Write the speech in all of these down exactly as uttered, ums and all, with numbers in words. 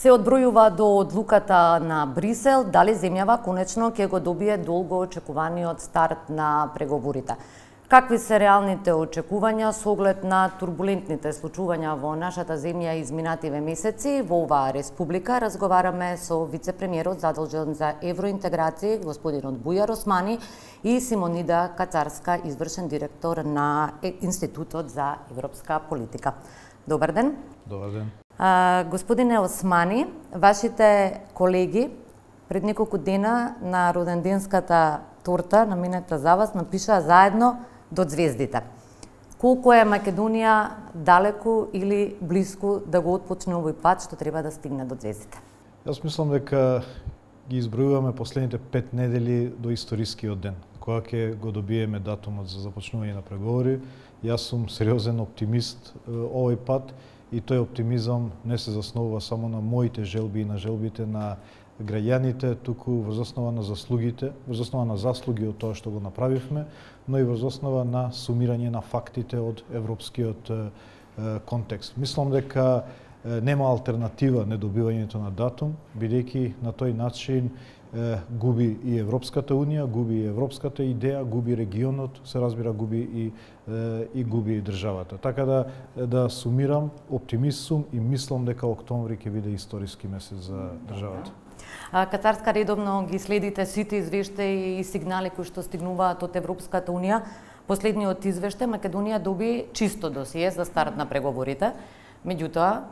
Се одбројува до одлуката на Брисел, дали земјава конечно ќе го добие долго очекуваниот старт на преговорите. Какви се реалните очекувања со оглед на турбулентните случувања во нашата земја изминативе месеци? Во оваа республика разговараме со вице-премиерот задолжен за евроинтеграција, господинот Бујар Османи, и Симонида Кацарска, извршен директор на Институтот за европска политика. Добар ден. Добар ден. А, господине Османи, вашите колеги пред неколку дена на роденденската торта наменета за вас напишаа заедно до звездите. Колку е Македонија далеку или блиску да го отпочне овој пат што треба да стигне до звездите? Јас мислам дека ги избројуваме последните пет недели до историскиот ден, кога ќе го добиеме датумот за започнување на преговори. Јас сум сериозен оптимист овој пат и тој оптимизам не се заснова само на моите желби и на желбите на граѓаните, туку врз основа на заслугите, врз основа на заслуги од тоа што го направивме, но и врз основа на сумирање на фактите од европскиот е, контекст. Мислам дека е, нема алтернатива недобивањето на датум, бидејќи на тој начин е, губи и Европската унија, губи и европската идеја, губи регионот, се разбира губи и е, и губи и државата. Така да да сумирам, оптимист сум и мислам дека октомври ќе биде историски месец за државата. Кацарска, редовно ги следите сите извештаи и сигнали кои што стигнуваат од Европската унија. Последниот извештај Македонија доби чисто досие за старт на преговорите. Меѓутоа,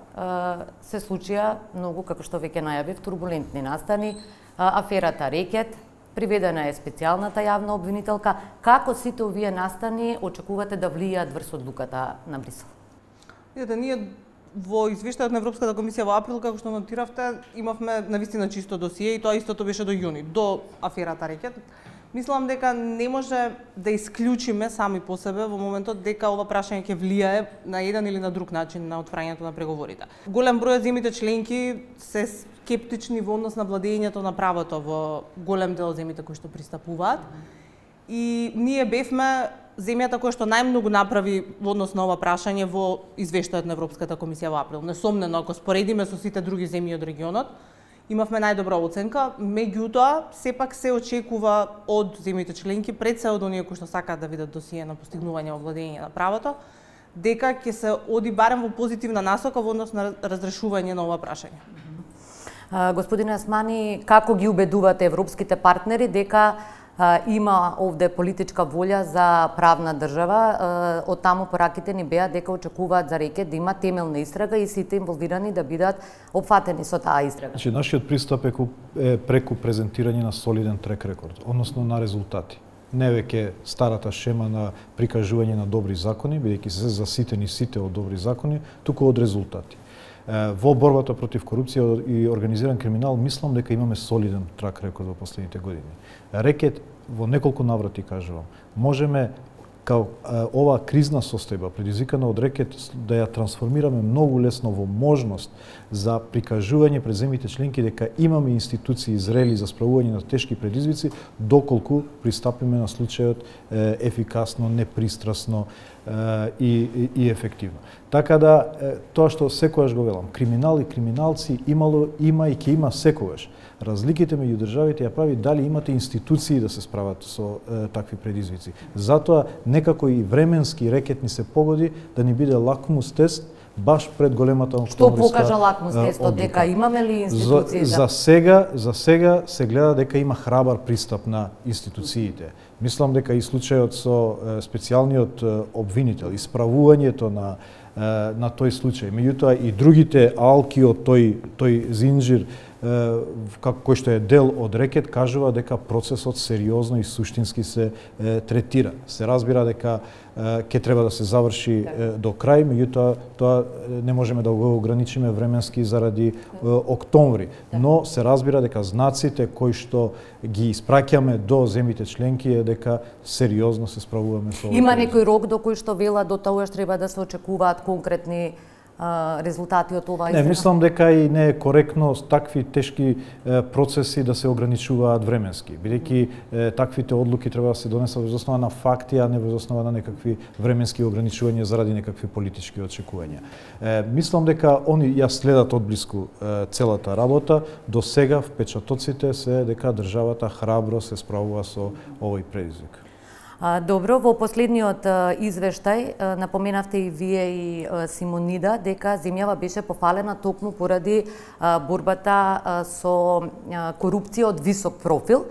се случија многу, како што веќе најавив, турбулентни настани. Аферата Рекет, приведена е специјалната јавна обвинителка. Како сите овие настани очекувате да влијаат врз одлуката на Брисел? Да, ние во извештајот на Европската комисија во април, како што нотиравте, имавме навистина чисто досие и тоа истото беше до јуни, до аферата Рекет. Мислам дека не може да исклучиме сами по себе во моментот дека ова прашање ќе влијае на еден или на друг начин на отварањето на преговорите. Голем број од земјите членки се скептични во однос на владењето на правото во голем дел од земјите кои што пристапуваат. И ние бевме земјата која што најмногу направи во однос на ова прашање во извештајот на Европската комисија во април. Несомнено, ако споредиме со сите други земји од регионот, имавме најдобра оценка, меѓутоа сепак се очекува од земјите членки, пред се од оние кои што сакаат да видат досие на постигнување во владење на правото, дека ќе се оди барем во позитивна насока во однос на разрешување на ова прашање. Господине Османи, како ги убедувате европските партнери дека има овде политичка волја за правна држава? Од таму пораките ни беа дека очекуваат за Рекет да има темелна истрага и сите инволвирани да бидат опфатени со таа истрага. Значи, нашиот пристап е преку презентирање на солиден трек рекорд, односно на резултати. Не веќе старата шема на прикажување на добри закони, бидејќи се заситени сите од добри закони, туку од резултати. Во борбата против корупција и организиран криминал, мислам дека имаме солиден трак рекорд во последните години. Рекет, во неколку наврати кажувам, можеме као ова кризна состојба, предизвикана од Рекет, да ја трансформираме многу лесно во можност за прикажување пред земјите членки дека имаме институции зрели за справување на тешки предизвици, доколку пристапиме на случајот е, ефикасно, непристрасно е, и, и ефективно. Така да, е, тоа што секогаш го велам, криминал и криминалци имало, има и ќе има секогаш. Разликите меѓу државите ја прави дали имате институции да се справат со е, такви предизвици. Затоа некако и временски Рекет ни се погоди да ни биде лакмус тест баш пред големата октомвриска. Што покажа лакмус тестот, дека имаме ли институции? За, за сега, за сега се гледа дека има храбар пристап на институциите. Мислам дека и случајот со е, специјалниот е, обвинител, исправувањето на на тој случај, меѓутоа и другите алки од тој тој зинџир како кој што е дел од Рекет, кажува дека процесот сериозно и суштински се е, третира. Се разбира дека ќе треба да се заврши е, до крај, меѓутоа тоа не можеме да го ограничиме временски заради е, октомври, но се разбира дека знаците кои што ги испраќаме до земјите членки е дека сериозно се справуваме со. Има некој рок до кој што вела до тоа што треба да се очекуваат конкретни резултати од ова истина? Не, мислам дека и не е коректно такви тешки процеси да се ограничуваат временски, бидејќи таквите одлуки треба да се донесат во основа на факти, а не во основа на некакви временски ограничувања заради некакви политички очекувања. Мислам дека они ја следат одблиску целата работа. До сега впечатоците се дека државата храбро се справува со овој предизвик. Добро, во последниот извештај напоменавте и вие и Симонида дека земјава беше пофалена токму поради борбата со корупција од висок профил,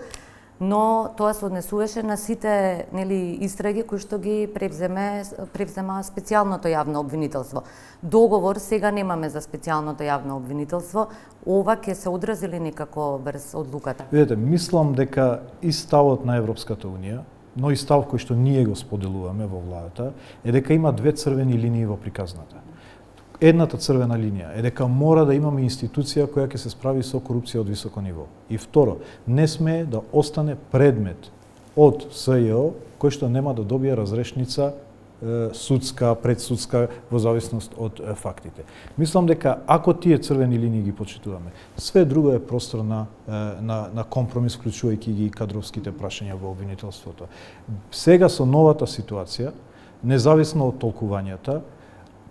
но тоа се однесуваше на сите, нели, истраги кои што ги превземе превзема специјалното јавно обвинителство. Договор сега немаме за специјалното јавно обвинителство. Ова ќе се одрази ли некако врз одлуката? Видете, мислам дека и ставот на Европската унија, но и став кој што ние го споделуваме во владата, е дека има две црвени линии во приказната. Едната црвена линија е дека мора да имаме институција која ќе се справи со корупција од високо ниво. И второ, не смее да остане предмет од СЈО кој што нема да добие разрешница судска, предсудска, во зависност од фактите. Мислам дека ако тие црвени линии ги почитуваме, све друго е простор на, на, на компромис, вклучувајќи ги кадровските прашања во обвинителството. Сега со новата ситуација, независно од толкувањата,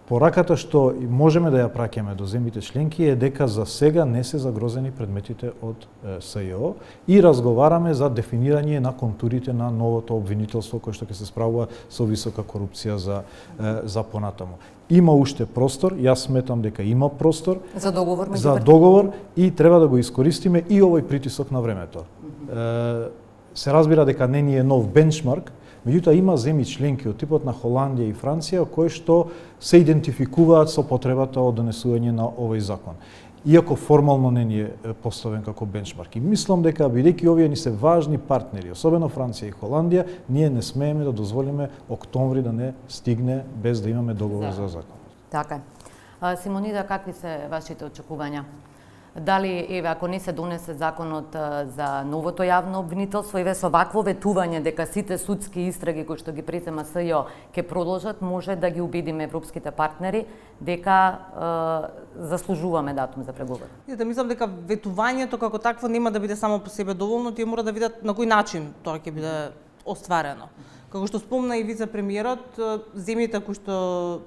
пораката што можеме да ја праќаме до земјите членки е дека за сега не се загрозени предметите од СЈО и разговараме за дефинирање на контурите на новото обвинителство кој што ќе се справува со висока корупција за, за понатаму. Има уште простор, јас сметам дека има простор за договор, за договор и треба да го искористиме и овој притисок на времето. Се разбира дека не ни е нов бенчмарк, меѓутоа има земји членки од типот на Холандија и Франција кои што се идентификуваат со потребата од донесување на овој закон. Иако формално не ни е поставен како бенчмарк. И мислам дека бидејќи овие ни се важни партнери, особено Франција и Холандија, ние не смееме да дозволиме октомври да не стигне без да имаме договор за, за закон. Така. Симонида, какви се вашите очекувања? Дали, еве, ако не се донесе законот за новото јавно обвинителство, еве со вакво ветување дека сите судски истраги кои што ги презема СЈО ќе продолжат, може да ги убедиме европските партнери дека е, заслужуваме датум за преговори? Да мислам дека ветувањето како такво нема да биде само по себе доволно, тие мора да видат на кој начин тоа ќе биде остварено. Како што спомна и вице-премиерот, земјите кои што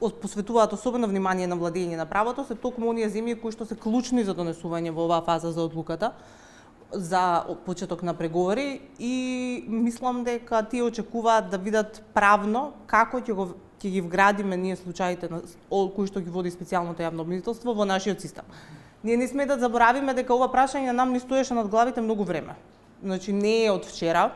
посветуваат особено внимание на владење на правото се токму оние земји кои што се клучни за донесување во оваа фаза за одлуката за почеток на преговори и мислам дека тие очекуваат да видат правно како ќе го ќе ги вградиме ние случаите на кои што ги води специјалното јавно обвинителство во нашиот систем. Ние не сме да заборавиме дека ова прашање нам ни стоеше над главите многу време. Значи не е од вчера.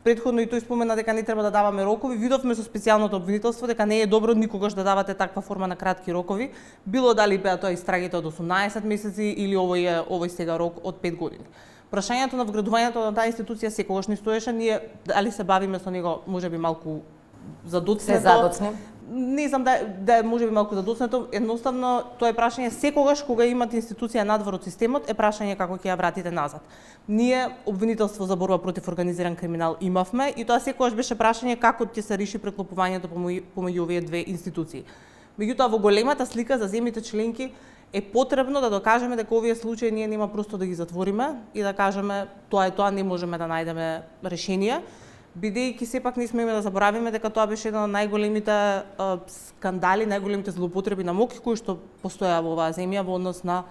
Претходно и тој спомена дека не треба да даваме рокови. Видовме со специјалното обвинителство дека не е добро никогаш да давате таква форма на кратки рокови, било дали беа тоа истрагите од осумнаесет месеци или овој е овој сега рок од пет години. Прашањето на вградувањето на таа институција секогаш ни стоеше, ние дали се бавиме со него, можеби малку задоцнето. Се задоцне. Не знам да да можеби малку задоцнето, едноставно тоа е прашање секогаш кога имате институција надвор од системот, е прашање како ќе ја вратите назад. Ние обвинителство за борба против организиран криминал имавме и тоа секогаш беше прашање како ќе се реши преклопувањето помеѓу овие две институции. Меѓутоа во големата слика за земјите членки е потребно да докажеме дека овие случаи ние нема просто да ги затвориме и да кажеме тоа е тоа, не можеме да најдеме решение, бидејќи сепак не смееме да заборавиме дека тоа беше еден од најголемите а, скандали, најголемите злоупотреби на моќ кои што постоја во оваа земја во однос на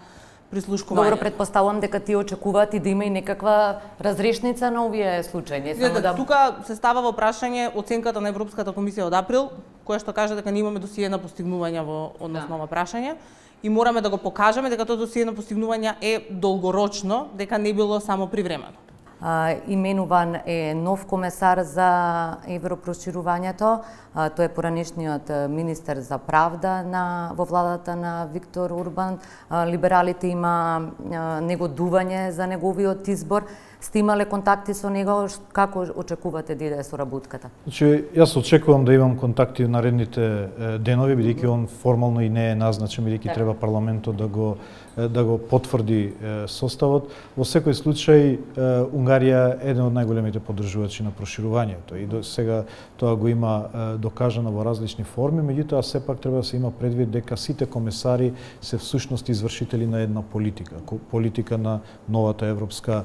прислушкување. Добро, предпоставувам дека тие очекуваат и да има и некаква разрешница на овие случаи, не само да... Тука се става во прашање оценката на Европската комисија од април, која што кажа дека не имаме досие на постигнувања во однос на ова прашање и мораме да го покажеме дека тоа досие на постигнувања е долгорочно, дека не било само привремено. Uh, именуван е нов комесар за европроширувањето. Uh, тој е поранешниот министер за правда на во владата на Виктор Орбан. Uh, либералите има uh, негодување за неговиот избор. Сте имале контакти со него, како очекувате да иде соработката? Значи, јас очекувам да имам контакти в наредните денови, бидејќи он формално и не е назначен, бидејќи треба парламентот да го да го потврди составот. Во секој случај, Унгарија е еден од најголемите поддржувачи на проширувањето и до сега тоа го има докажано во различни форми, меѓутоа сепак треба да се има предвид дека сите комесари се всушност извршители на една политика, политика на новата Европска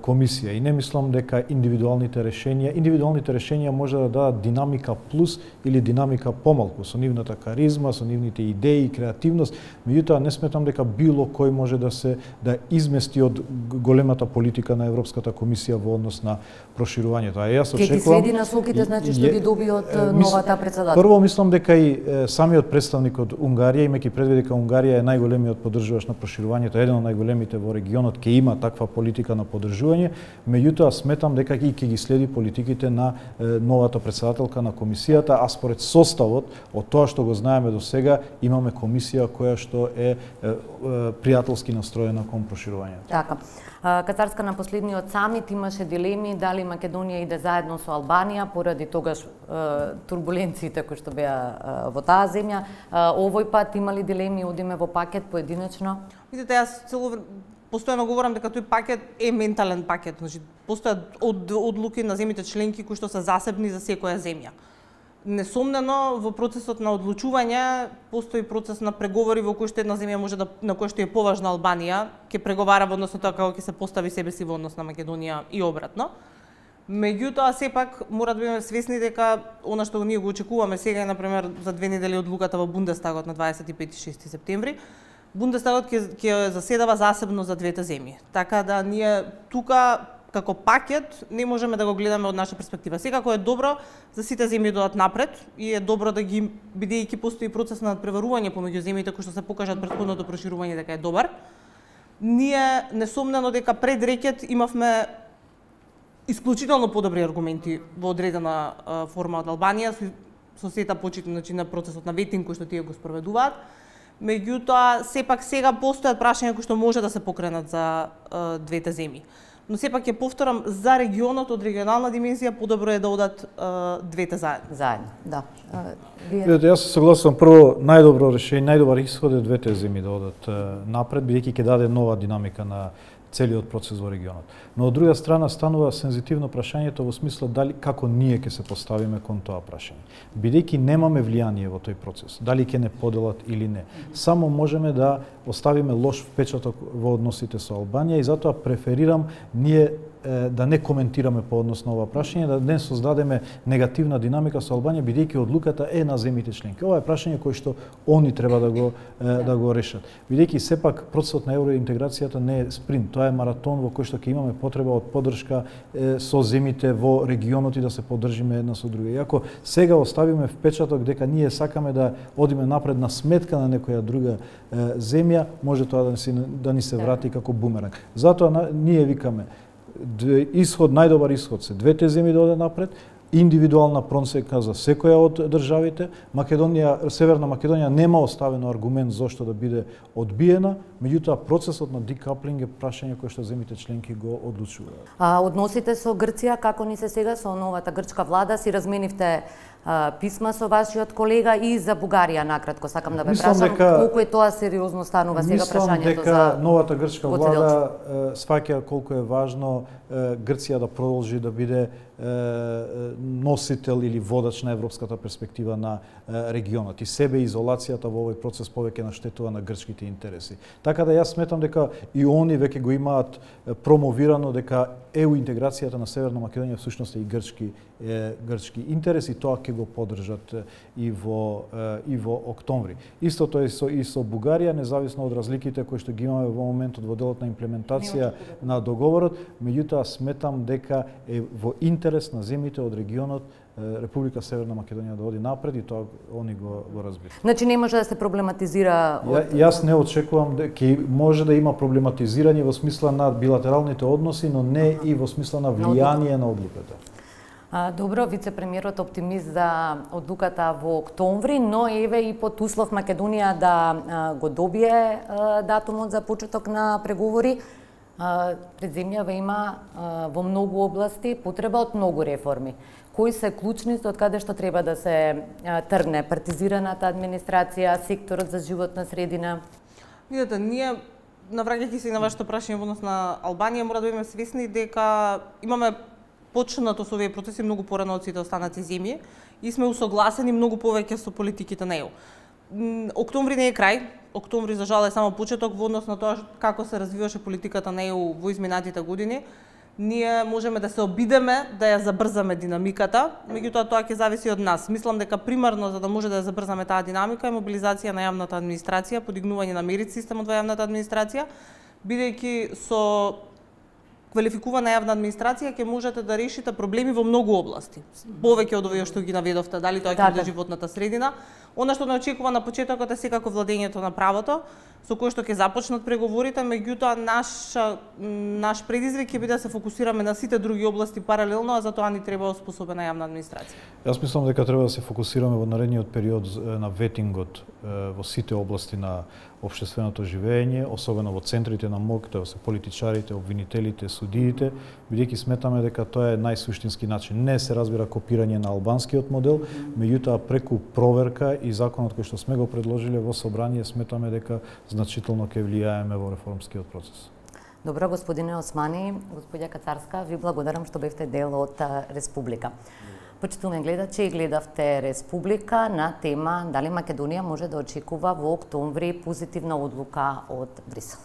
комисија. И не мислам дека индивидуалните решенија, индивидуалните решенија може да дадат динамика плюс или динамика помалку со нивната каризма, со нивните идеи и креативност, меѓутоа не сметам дека било кој може да се да измести од големата политика на Европската комисија во однос на проширувањето. А јас очекувам Ке ги следи насоките, значи што ги доби од новата председател. Прво мислам дека и самиот представник од Унгарија, имајќи предвид дека Унгарија е најголемиот поддржувач на проширувањето, еден од најголемите во регионот, ќе има таква политика на поддржување, меѓутоа сметам дека и ќе ги следи политиките на новата председателка на комисијата, а според составот од тоа што го знаеме до сега, имаме комисија која што е пријателски настроена кон проширувањето. Така. Катарска на последниот самит имаше дилеми дали Македонија иде заедно со Албанија поради тогаш турбуленциите кои што беа во таа земја. Овој пат имали дилеми, одиме во пакет поединечно? Видите, јас цело постојано говорам дека тој пакет е ментален пакет, значи постојат од одлуки на земјите членки кои што се засебни за секоја земја. Несомнено, во процесот на одлучување постои процес на преговори во кој што една земја може да на кој што е поважна Албанија, ќе преговара во однос на тоа како ќе се постави себе си во однос на Македонија и обратно. Меѓутоа, сепак мора да бидеме свесни дека она што ние го очекуваме сега е, например, за две недели одлуката во Бундестагот на дваесет и пети и шести септември, Бундестагот ќе ќе заседава засебно за двете земји. Така да ние тука како пакет не можеме да го гледаме од наша перспектива. Секако е добро за сите земји да одат напред и е добро да ги, бидејќи постои процес на надпреварување помеѓу земјите кои што се покажат претходното проширување дека е добар. Ние несомнено дека пред рекет имавме исклучително подобри аргументи во одредена а, форма од Албанија со, со сета почит значи, на процесот на ветинг кој што тие го спроведуваат. Меѓутоа, сепак сега постојат прашања кои што може да се покренат за а, двете земји. Но сепак ќе повторам, за регионот од регионална димензија подобро е да одат а, двете заедно. Заедно, да. Вие... Јас се согласувам, прво најдобро решение, најдобар исход е двете земји да одат напред, бидејќи ќе даде нова динамика на целиот процес во регионот. Но од друга страна станува сензитивно прашањето во смисла дали како ние ќе се поставиме кон тоа прашање. Бидејќи немаме влијание во тој процес, дали ќе не поделат или не. Само можеме да оставиме лош впечаток во односите со Албанија и затоа преферирам ние да не коментираме по однос на ова прашање, да не создадеме негативна динамика со Албанија, бидејќи одлуката е на земјите членки. Ова е прашање кое што они треба да го да го решат. Бидејќи сепак процесот на евроинтеграцијата не е спринт, тоа е маратон во кој што ќе имаме потреба од поддршка е, со земјите во регионот и да се поддржиме една со друга. Иако сега оставиме впечаток дека ние сакаме да одиме напред на сметка на некоја друга е, земја, може тоа да ни се, да ни се врати како бумеранг. Затоа на, ние викаме исход, најдобар исход се двете земји да одат напред, индивидуална просека за секоја од државите. Македонија, Северна Македонија нема оставено аргумент зошто да биде одбиена, меѓутоа процесот на декаплинг е прашање кое што земјите членки го одлучуваат. А односите со Грција како ни се сега со новата грчка влада, си разменивте а, писма со вашиот колега и за Бугарија накратко сакам да ве прашам дека, колку е тоа сериозно станува сега прашањето дека за новата грчка влада сваќа колку е важно Грција да продолжи да биде носител или водач на европската перспектива на регионот и себе изолацијата во овој процес повеќе наштетува на грчките интереси. Така да јас сметам дека и они веќе го имаат промовирано дека еу интеграцијата на Северна Македонија всушност е и грчки е, грчки интерес и тоа ќе го поддржат и во и во октомври. Истото е со и со Бугарија, независно од разликите кои што ги имаме во моментот во делот на имплементација на договорот, меѓутоа сметам дека е во интерес на земјите од регионот Република Северна Македонија да оди напред и тоа они го го разбират. Значи не може да се проблематизира од... Ја, јас не очекувам дека може да има проблематизирање во смисла на билатералните односи, но не и во смисла на влијание на одлуката. А, добро, вице-премиерот оптимист за одлуката во октомври, но еве и под услов Македонија да а, го добие а, датумот за почеток на преговори. Пред земјава има во многу области потреба од многу реформи. Кои се клучните од каде што треба да се тргне партизираната администрација, секторот за животна средина? Видете, ние навраќајќи се и на вашето прашање во однос на Албанија, мора да бидеме свесни дека имаме почнато со овие процеси многу порано од сите останати земји и сме усогласени многу повеќе со политиките на Е У. Октомври не е крај, октомври за жал е само почеток во однос на тоа како се развиваше политиката на Е У во изминатите години. Ние можеме да се обидеме да ја забрзаме динамиката, меѓутоа тоа ќе зависи од нас. Мислам дека примарно за да може да ја забрзаме таа динамика е мобилизација на јавната администрација, подигнување на мерит системот во јавната администрација, бидејќи со квалификувана јавна администрација ќе можете да решите проблеми во многу области. Повеќе од овие што ги наведовте, дали тоа ќе биде животната средина. Она што не очекува на почетокот е секако владењето на правото, со кое што ќе започнат преговорите, меѓутоа наш наш предизвик ќе биде да се фокусираме на сите други области паралелно, а за тоа ни треба оспособена јавна администрација. Јас мислам дека треба да се фокусираме во наредниот период на ветингот во сите области на општественото живење, особено во центрите на моќ, тоа се политичарите, обвинителите, судиите, бидејќи сметаме дека тоа е најсуштински начин. Не се разбира копирање на албанскиот модел, меѓутоа преку проверка и законот кој што сме го предложиле во собрание, сметаме дека значително ќе влијаеме во реформскиот процес. Добро, господине Османи, господја Кацарска, ви благодарам што бевте дел од Республика. Почитувани гледачи, гледавте Республика на тема дали Македонија може да очекува во октомври позитивна одлука од Брисел.